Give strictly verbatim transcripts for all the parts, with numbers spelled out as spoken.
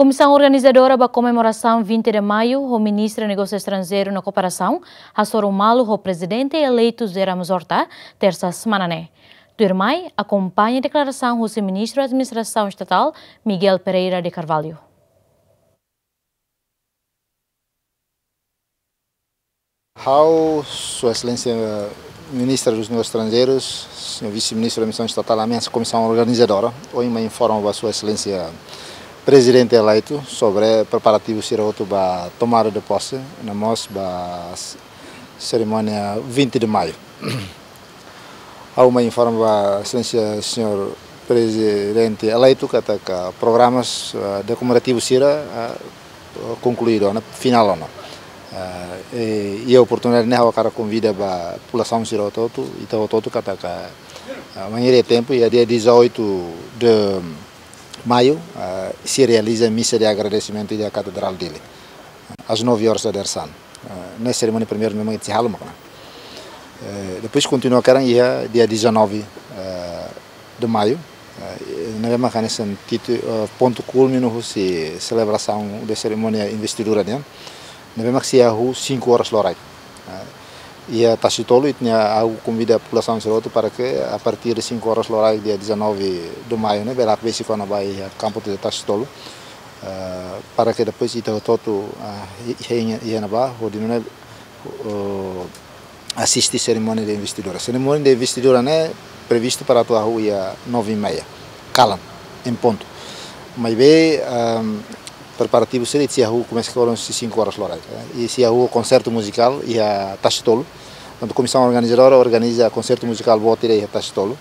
Komisaun organizadora ba komemorasaun vinte de Maio, ho Ministra Negósiu Estranjeiru no Kooperasaun, hasoru malu ho Prezidente eleitu José Ramos Horta, tersa semana ne'e. Tuirmai, akompaña deklarasaun husi Ministru Administrasaun Estatál, Miguel Pereira de Carvalho. Ha'u, Sua Exelénsia Ministra dos Negósius Estranjeirus, Señór Vise-Ministru da Misaun Estatál, ami hanesan komisaun organizadora, ohin mai informa ba Sua Exelénsia Prezidente eleitu sobre preparativu sira hotu ba tomada de posse, no mós ba s-, serimónia vinte de Maio. Ha'u mai informa ba Exelénsia Señór Prezidente eleitu katak programas, eh, de komemorativu sira, eh, konkluídu ona, finál ona. Eh, i, i oportunidade ne'e ha'u hakarak konvida ba populasaun sira hotu-hotu, ita hotu-hotu katak, eh, manhã de tempu, iha dia dezoito de Maio, eh, sei realiza misa de agradesimentu iha Katedrál Dili, às nove horas da dadeer-saan. Eh, ne'e serimónia primeiru ne'ebé mak sei halo mak ne'e. Eh, depois kontinua karik iha dia dezanove, eh, de Maio. Eh, ne'ebé mak hanesan titu-, eh, pontu kúlminu husi selebrasaun de serimónia investidura nian. Ne'ebé mak sei hahú cinco horas loraik. Eh, iha Tasitolu, ita-nia, ha'u konvida populasaun sira hotu para que a partir de cinco horas loraik dia dezanove de Maio ne'e, bele hakbesik ona ba iha kampu de Tasitolu. Eh, para que depois ita hotu-hotu, ah, i-, i-, iha ne'ebá, hodi nune'e, oh, asiste serimónia de investidura. Serimónia de investidura ne'e previstu para atu hahú iha nove e meia, kalan, em ponto. Maibé, ehm, preparativu sira sei hahú komesa husi cinco horas loraik, eh, i sei hahú konsertu muzikál iha Tasitolu. Portantu, komisaun organizadora organiza konsertu muzikál boot ida iha Tasitolu,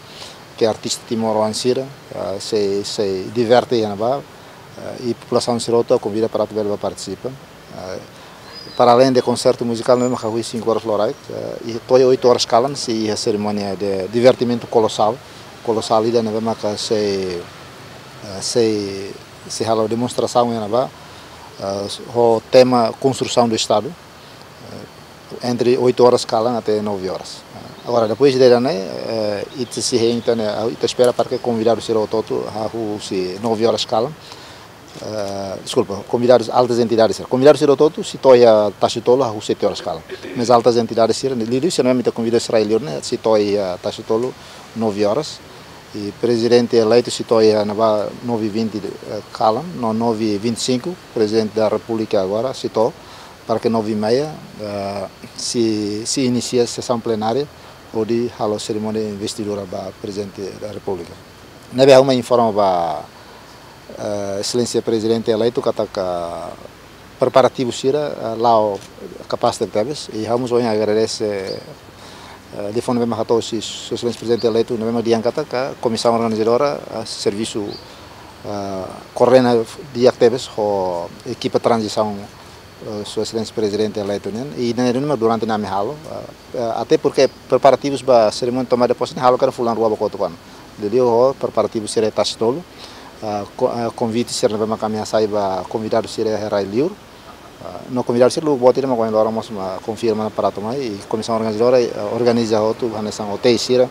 ke artista timoroan sira, eh, sei, sei diverte iha ne'ebá, eh, i populasaun sira hotu konvida para atu bele bá partisipa. Eh, para além de konsertu muzikál, ne'ebé mak hahú cinco horas loraik, eh, i to'o oito horas kalan sei iha serimónia de divertimentu kolosál, kolosál ida ne'ebé mak sei, eh, sei, sei halo demonstrasaun iha ne'ebá, eh, ho tema Construção do Estado, eh, entre oito horas kalan até nove horas. Eh, agora, depois de ne'e, eh, ita sei hein tan ne'e, ita espera para que konvidadu sira hotu-hotu hahú husi nove horas kalan, eh, deskulpa, konvidadus, altas entidades sira. Konvidadu sira hotu-hotu sei to'o iha Tasitolu hahú sete horas kalan. Mas altas entidades sira, liuliu sira ne'ebé mak ita konvida sira rai-li'ur ne'e, sei to'o iha Tasitolu nove horas. I prezidente eleitu sei to'o iha ne'ebá nove e vinte, eh, kalan, no nove e vinte e cinco, Prezidente da Repúblika agora sei to'o, para que nove e meia, eh, sei, sei inisie sesaun plenária, hodi halo serimónia investidura ba Prezidente da Repúblika. Ne'ebé ha'u mai informa ba, eh, Exelénsia Prezidente eleitu katak preparativu sira, eh, la'o kapás tebetebes, i ha'u mós ohin agradese, eh, telefone ne'ebé mak hato'o husi Sua Exelénsia Prezidente eleitu, ne'ebé mak dehan katak komisaun organizadora, eh, servisu, eh, koordena di'ak tebes ho ekipa tranzisaun, eh, Sua Exelénsia Prezidente eleitu nian, i ne'e duni mak durante ne'e ami halo, eh, eh, até porque preparativus ba serimónia tomada de posse ne'e halo karik fulan rua ba kotuk ona. Liuliu ho preparativu sira iha Tasitolu, eh, ko-, eh, konvite sira ne'ebé mak ami hasai ba konvidadu sira iha rai-li'ur. Eh, no konvidadu sira lubuk boot ida mak ohin loron mós mak konfirma ona para atu mai, i komisaun organizadora, eh, organiza hotu hanesan hotéis sira.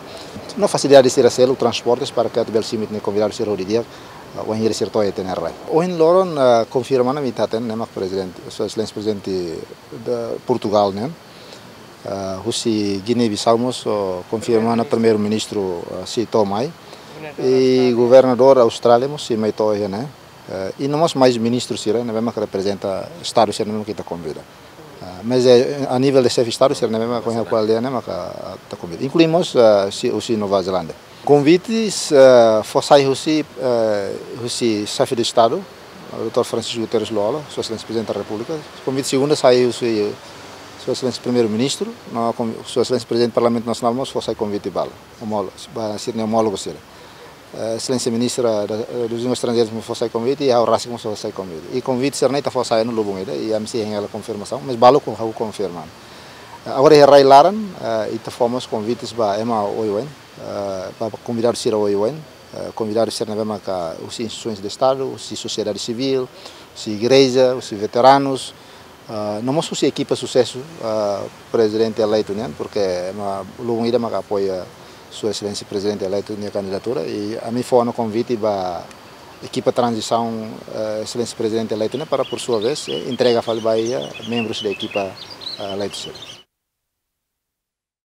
No fasilidade sira seluk, transportes para que atu bele simu ita-nia konvidadu sira ho di'ak, eh, wainhira sira to'o iha ita-nia rai. Ohin loron, eh, konfirma ona ami ita hatene ne'e mak Prezidente, Sua Exelénsia Prezidente de Portugal nian, eh, husi Guiné-Bissau mós, oh, konfirma ona Primeiru-Ministru, eh, sei to'o mai. I governadór Austrália mós sei mai to'o iha ne'e. Eh, i no mós mais ministru sira ne'ebé mak reprezenta Estadu sira ne'ebé mak ita konvida. Eh, mas, eh, a nível de xefe Estadu sira ne'ebé mak ohin ha'u ko'alia ne'e mak ita konvida. Inklui mós, eh, sei, husi Nova Zelándia. Konvites, eh, fó sai husi, eh, husi Xefe de Estadu, doutór Francisco Guterres Lú-Olo, Sua Exelénsia Prezidente da Repúblika. Konvite segunda sai husi Sua Exelénsia Primeiru-Ministru, no kon-, Sua Exelénsia Prezidente Parlamentu Nasionál mós fó sai konvite ba la, omólo-, ba sira-nia omólogu sira. Eh, Exelénsia Ministra da, eh, dos Negósius Estranjeirus mós fó sai konvite, i ha'u rasik mós fó sai konvite. I konvite sira-ne'e ita fó sai ona lubun ida, i ami sei hein hela konfirmasaun, mas balu kon-, ha'u konfirma. Eh, agora iha rai-laran, eh, ita fó mós konvites ba ema oioin, eh, ba, ba konvidadu sira oioin, eh, konvidadu sira ne'ebé maka husi instituisoens de Estadu, husi sosiedade sivíl, husi igreja, husi veteranus, eh, no mós husi ekipa susesu, eh, Prezidente eleitu nian, porque ema lubun ida maka apoia Sua Exelénsia Prezidente eleitu nia kandidatura, i ami fó ona konvite ba, ekipa tranzisaun, eh, Exelénsia Prezidente eleitu ne'e para, por sua vez, eh, entrega fali ba iha membrus da ekipa, eh, eleitu sira.